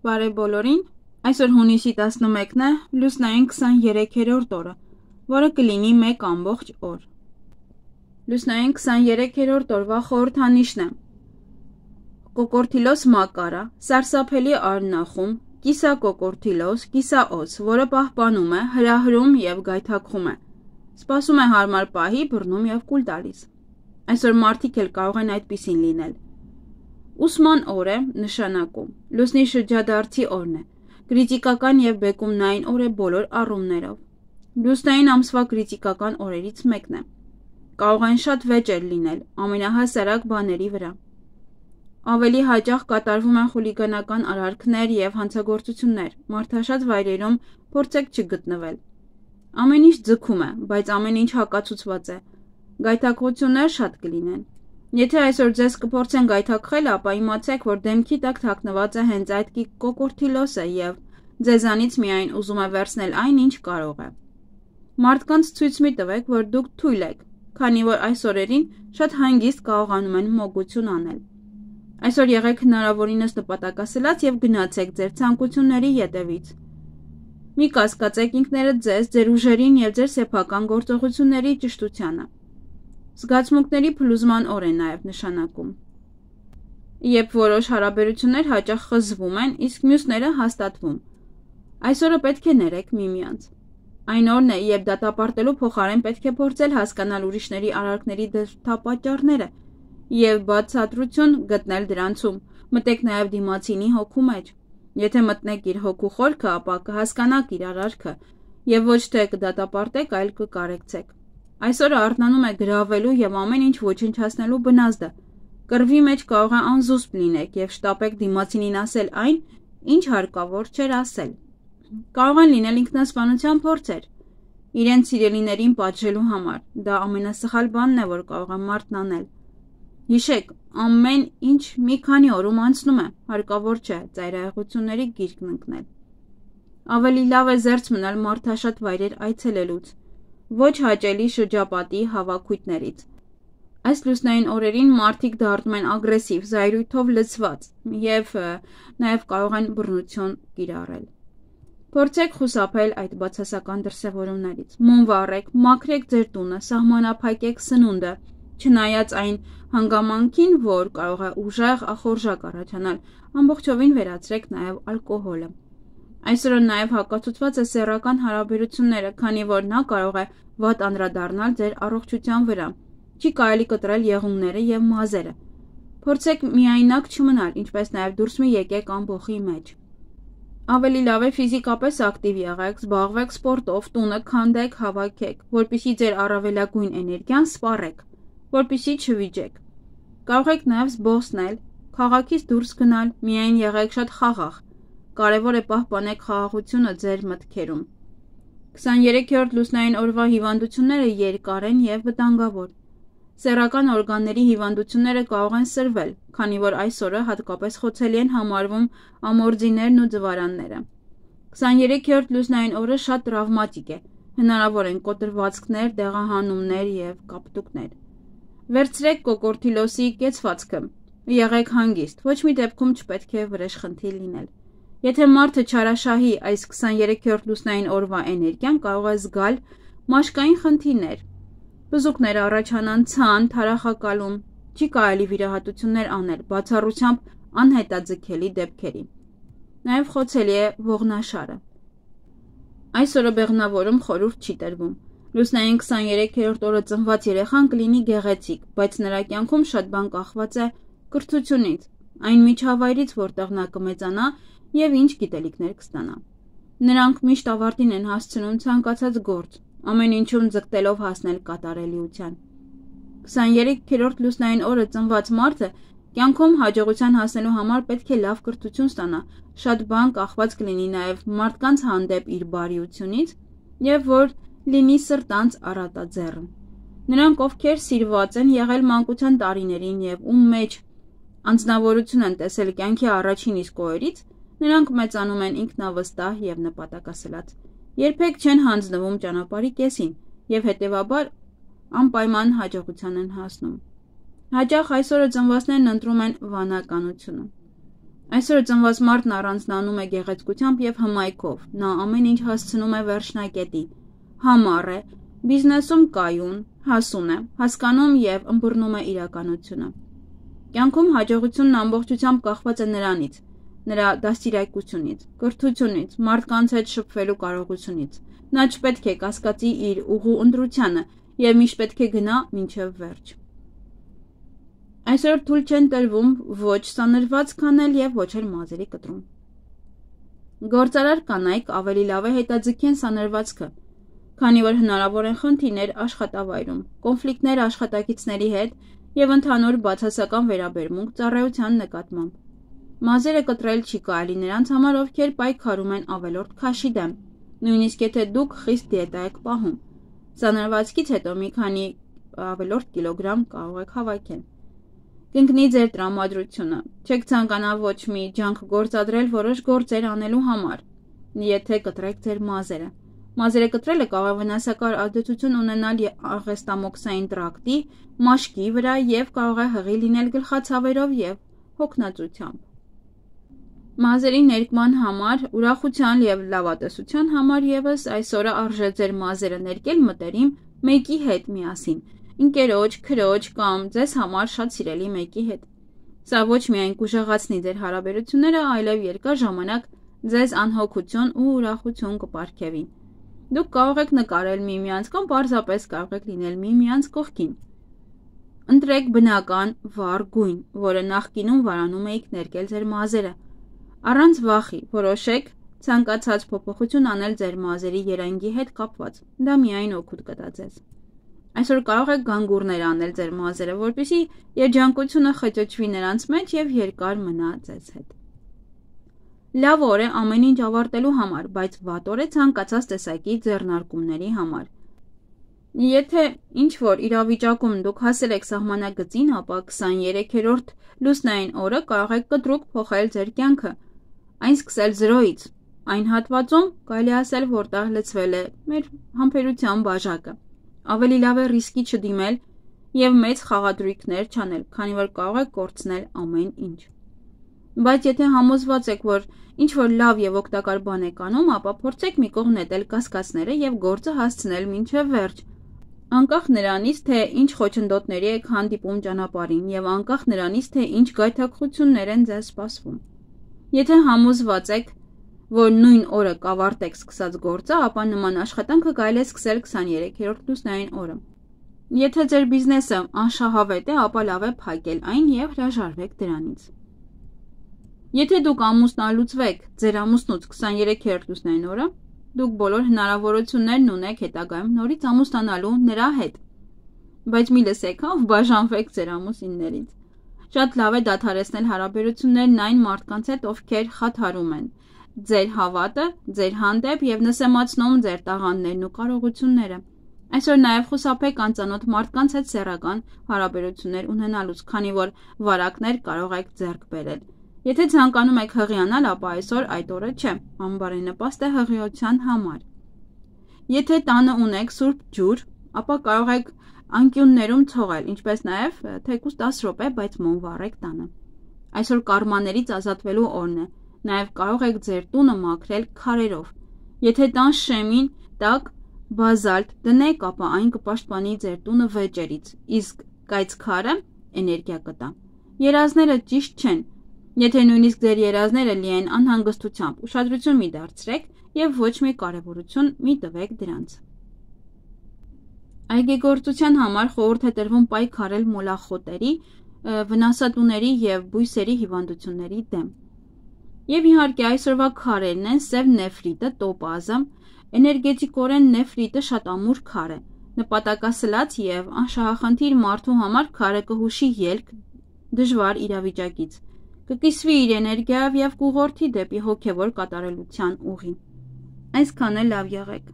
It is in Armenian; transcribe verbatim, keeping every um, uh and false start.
Բարև բոլորին, այսօր հունիսի տասնմեկն է, լուսնային քսաներեքերորդ օրը, որը կլինի մեկ ամբողջ օր։ Լուսնային քսաներեքերորդ օրվա խորհրդանիշն է կոկորտիլոս մակարա, սարսափելի արնախում, կիսակոկորտիլոս, կիսաոց, որը պահպանում է, հրահրում և գայթակղում է, սպասում է հարմար պահի, բռնում և կուլ տալիս։ Այսօր մարդիկ էլ կարող են այդպիսին լինել։ Ուսման օր է նշանակում, լուսնի շրջադարձի օրն է, կրիտիկական և բեկումնային օր է բոլոր առումներով։ Լուսնային ամսվա կրիտիկական օրերից մեկն է։ Կարող են շատ վեճեր լինել, ամենահասարակ բաների վրա։ Ավելի հաճախ կատարվում են խուլիգանական արարքներ և հանցագործություններ, մարդաշատ վայրերում փորձեք չգտնվել։ Ամեն ինչ ձգում է, բայց ամեն ինչ հակացուցված է։ Գայթակղություններ շատ կլինեն։ Եթե այսօր ձեզ կփորձեն գայթակղել, ապա իմացեք, որ դեմքի տակ թաքնված է հենց այդ կոկորտիլոսը և ձեզանից միայն ուզում է վերցնել այն, ինչ կարող է։ Մարդկանց ցույց մի տվեք, որ դուք թույլ եք, քանի որ այս օրերին շատ հանգիստ կարողանում են մոգություն անել։ Այսօր եղեք հնարավորինս նպատակասլաց և գնացեք ձեր ցանկությունների ետևից։ Մի կասկածեք ինքներդ ձեզ, ձեր ուժերին և ձեր սեփական գործողությունների ճշտությանը։ Զգացմունքների փլուզման օր է նաև նշանակում, երբ որոշ հարաբերություններ հաճախ խզվում են, իսկ մյուսները հաստատվում։ Այսօրը պետք է ներեք միմյանց։ Այն օրն է, երբ դատապարտելու փոխարեն պետք է փորձել հասկանալ ուրիշների արարքների դրդապատճառները և բացատրություն գտնել դրանցում։ Մտեք նաև դիմացինի հոգու մեջ։ Եթե մտնեք իր հոգու խորքը, ապա կհասկանաք իր արարքը և ոչ թե կդատապարտեք, այլ կկարեկցեք։ Այսօրը արթնանում է գրավելու և ամեն ինչ ոչնչացնելու բնազդը։ Կռվի մեջ կարող է անզուսպ լինեք և շտապեք դիմացինին ասել այն, ինչ հարկավոր չէր ասել։ Կարող են լինել ինքնասպանության փորձեր, իրենց սիրելիներին պատժելու համար։ Դա ամենասխալ բանն է, որ կարող է մարդն անել։ Հիշեք, ամեն ինչ մի քանի օրում անցնում է, հարկավոր չէ ծայրահեղությունների գիրկն ընկնել։ Ավելի լավ է զերծ մնալ մարդաշատ վայրեր այցելելուց, ոչ հաճելի շրջապատի հավաքույթներից։ Այս լուսնային օրերին մարդիկ դառնում են ագրեսիվ, զայրույթով լցված և նաև կարող են բռնություն կիրառել։ Փորձեք խուսափել այդ բացասական դրսևորումներից։ Մոմ վառեք, մաքրեք ձեր տունը, սահմանափակեք սնունդը, չնայած այն հանգամանքին, որ կարող է ուժեղ ախորժակ առաջանալ, ամբողջովին վերացրեք նաև ալկոհոլը։ Այսօրը նաև հակացուցված է սեռական հարաբերությունները, քանի որ նա կարող է վատ անդրադառնալ ձեր առողջության վրա։ Չի կարելի կտրել եղունգները և մազերը։ Փորձեք միայնակ չմնալ, ինչպես նաև դուրս մի եկեք ամբոխի մեջ։ Ավելի լավ է ֆիզիկապես ակտիվ եղեք, զբաղվեք սպորտով, տունը քանդեք, հավաքեք, որպեսզի ձեր առավելագույն էներգիան սպառեք, որպեսզի չվիճեք։ Կարող եք նաև զբոսնել, քաղաքից դուրս գնալ, միայն եղեք շատ խաղաղ։ Կարևոր է պահպանեք խաղաղությունը ձեր մտքերում։ քսաներեքերորդ լուսնային օրվա հիվանդությունները երկար են և վտանգավոր։ Սեռական օրգանների հիվանդությունները կարող են սրվել, քանի որ այս օրը հատկապես խոցելի են համարվում ամորձիներն ու ձվարանները։ քսաներեքերորդ լուսնային օրը շատ տրավմատիկ է, հնարավոր են կոտրվածքներ, դեղահանումներ և կապտուկներ։ Վերցրեք կոկորտիլոսի կեցվածքը, եղեք հանգիստ, ոչ մի դեպքում չպետք է վրեժխնդիր լինել։ Եթե մարդը չարաշահի այս քսաներեքերորդ լուսնային օրվա էներգիան, կարող է զգալ մաշկային խնդիրներ, բզուկներ առաջանան, ցան, թարախակալում, չի կարելի վիրահատություններ անել, բացառությամբ անհետաձգելի դեպքերի։ Նաև խոցելի է ողնաշարը։ Այս օրը բեղմնավորում խորհուրդ չի տրվում։ Լուսնային քսաներեքերորդ օրը ծնված երեխան կլինի գեղեցիկ, բայց նրա կյանքում շատ բան կախված է կրթությունից, այն միջավայրից, որտեղ նա կմեծանա և ինչ գիտելիքներ կստանա։ Նրանք միշտ ավարտին են հասցնում ցանկացած գործ, ամեն ինչում ձգտելով հասնել կատարելիության։ քսաներեքերորդ լուսնային օրը ծնված մարդը կյանքում հաջողության հասնելու համար պետք է լավ կրթություն ստանա, շատ բան կախված կլինի նաև մարդկանց հանդեպ իր բարիությունից և որ լինի սրտանց առատաձեռն։ Նրանք, ովքեր սիրված են եղել մանկության տարիներին և ում մեջ անձնավորություն են տեսել կյանքի առաջին իսկ օրերից, նրանք մեծանում են ինքնավստահ և նպատակասլաց, երբեք չեն հանձնվում ճանապարհի կեսին և հետևաբար անպայման հաջողության են հասնում։ Հաճախ այսօրը ծնվածներն ընտրում են վանականությունը։ Այսօր ծնված մարդն առանձնանում է գեղեցկությամբ և հմայքով, նա ամեն ինչ հասցնում է վերջնակետի, համառ է, բիզնեսում կայուն, հասուն է, հասկանում և ըմբռնում է իրականությունը։ Կյանքում հաջողությունն ամբողջությամբ կախված է նրանից, նրա դաստիարակությունից, կրթությունից, մարդկանց հետ շփվելու կարողությունից։ Նա չպետք է կասկածի իր ուղու ընտրությանը և միշտ պետք է գնա մինչև վերջ։ Այսօր թույլ չեն տրվում ոչ սանրվածք անել և ոչ էլ մազերի կտրում։ Գործարար կանայք ավելի լավ է հետաձգեն սանրվածքը, քանի որ հնարավոր են խնդիրներ աշխատավայրում, կոնֆլիկտներ աշխատակիցների հետ և ընդհանուր բացասական վերաբերմունք ծառայության նկատմամբ։ Մազերը կտրել չի կարելի նրանց համար, ովքեր պայքարում են ավելորդ քաշի դեմ, նույնիսկ եթե դուք խիստ դիետա եք պահում։ Սանրվածքից հետո մի քանի ավելորդ կիլոգրամ կարող եք հավաքել։ Կընկնի ձեր տրամադրությունը, չեք ցանկանա ոչ մի ջանք գործադրել որոշ գործեր անելու համար, եթե կտրեք ձեր մազերը։ Մազերը կտրելը կարող է վնասակար ազդեցություն ունենալ աղեստամոքսային տրակտի, մաշկի վրա և կարող է հղի լինել գլխացավերով և հոգնածությամբ։ Մազերի ներկման համար, ուրախության և լավատեսության համար ևս այսօրը արժե ձեր մազերը ներկել մտերիմ մեկի հետ միասին, ընկերոջ, քրոջ կամ ձեզ համար շատ սիրելի մեկի հետ։ Սա ոչ միայն կուժեղացնի ձեր հարաբերությունները, այլև երկար ժամանակ ձեզ անհոգություն ու ուրախություն կպարգևի։ Դուք կարող եք նկարել միմյանց կամ պարզապես կարող եք լինել միմյանց կողքին։ Ընտրեք բնական վառ գույն, որը նախկինում վարանում էիք ներկել ձեր մազերը։ Առանց վախի որոշեք ցանկացած փոփոխություն անել ձեր մազերի երանգի հետ կապված։ Դա միայն օգուտ կտա ձեզ։ Այսօր կարող եք գանգուրներ անել ձեր մազերը, որպեսզի երջանկությունը խճճվի նրանց մեջ և երկար մնա ձեզ հետ։ Լավ օր է ամեն ինչ ավարտելու համար, բայց վատ օր է ցանկացած տեսակի ձեռնարկումների համար։ Եթե ինչ-որ իրավիճակում դուք հասել եք սահմանագծին, ապա քսաներեքերորդ լուսնային օրը կարող եք կտրուկ փոխել ձեր կյանքը, այն սկսել զրոյից, այն հատվածում կարելի ասել, որտեղ լցվել է մեր համբերության բաժակը։ Ավելի լավ է ռիսկի չդիմել և մեծ խաղադրույքներ չանել, քանի որ կարող եք կորցնել ամեն ինչ։ Բայց եթե համոզված եք, որ ինչ-որ լավ և օգտակար բան եք անում, ապա փորձեք մի կողմ նետել կասկածները և գործը հասցնել մինչև վերջ, անկախ նրանից, թե ինչ խոչընդոտների եք հանդիպում ճանապարհին և անկախ նրանից, թե ինչ գայթակղություններ են ձեզ սպասվում։ Եթե համոզված եք, որ նույն օրը կավարտեք սկսած գործը, ապա նման աշխատանքը կարելի է սկսել քսաներեքերորդ լուսնային օրը։ Եթե ձեր բիզնեսը անշահավետ է, ապա լավ է փակել այն և հրաժարվեք դրանից։ Եթե դուք ամուսնալուծվեք ձեր ամուսնուց քսաներեքերորդ լուսնային օրը, դուք բոլոր հնարավորություններն ունեք հետագայում նորից ամուսնանալու նրա հետ, բայց մի լսեք, հա, բաժանվեք ձեր ամուսիններից։ Շատ լավ է դադարեցնել հարաբերություններն այն մարդկանց հետ, ովքեր խաթարում են ձեր հավատը, ձեր հանդեպ և նսեմացնում ձեր տաղանդներն ու կարողությունները։ Այսօր նաև խուսափեք անծանոթ մարդկանց հետ սեռական հարաբերություններ ունենալուց, քանի որ վարակներ կարող եք ձեռք բերել։ Եթե ցանկանում եք հղիանալ, ապա այսօր այդ օրը չէ, անբարենպաստ է հղիության համար։ Եթե տանը ունեք սուրբ ջուր, ապա կարող եք անկյուններում թողել, ինչպես նաև թեկուզ տասը րոպե, բայց մոմ վառեք տանը։ Այսօր կարմաներից ազատվելու օրն է, նաև կարող եք ձեր տունը մաքրել քարերով։ Եթե տան շեմին տակ բազալտ դնեք, ապա այն կպաշտպանի ձեր տունը վեճերից, իսկ կայծ քարը էներգիա կտա։ Երազները ճիշտ չեն։ Եթե նույնիսկ ձեր երազները լի են անհանգստությամբ, ուշադրություն մի դարձրեք և ոչ մի կարևորություն մի տվեք դրանց։ Այգեգործության համար խորհուրդ է տրվում պայքարել մոլախոտերի, վնասատուների և բույսերի հիվանդությունների դեմ։ Եվ իհարկե այսօրվա քարերն են սև նեֆրիտը, տոպազը, էներգետիկորեն նեֆրիտը շատ ամուր քար է, նպատակասլաց և անշահախնդիր մարդու համար քարը կհուշի ելք դժվար իրավիճակից, կկիսվի իր էներգիայով և կուղղորդի դեպի հոգևոր կատարելության ուղի։ Այսքան է, լավ եղեք։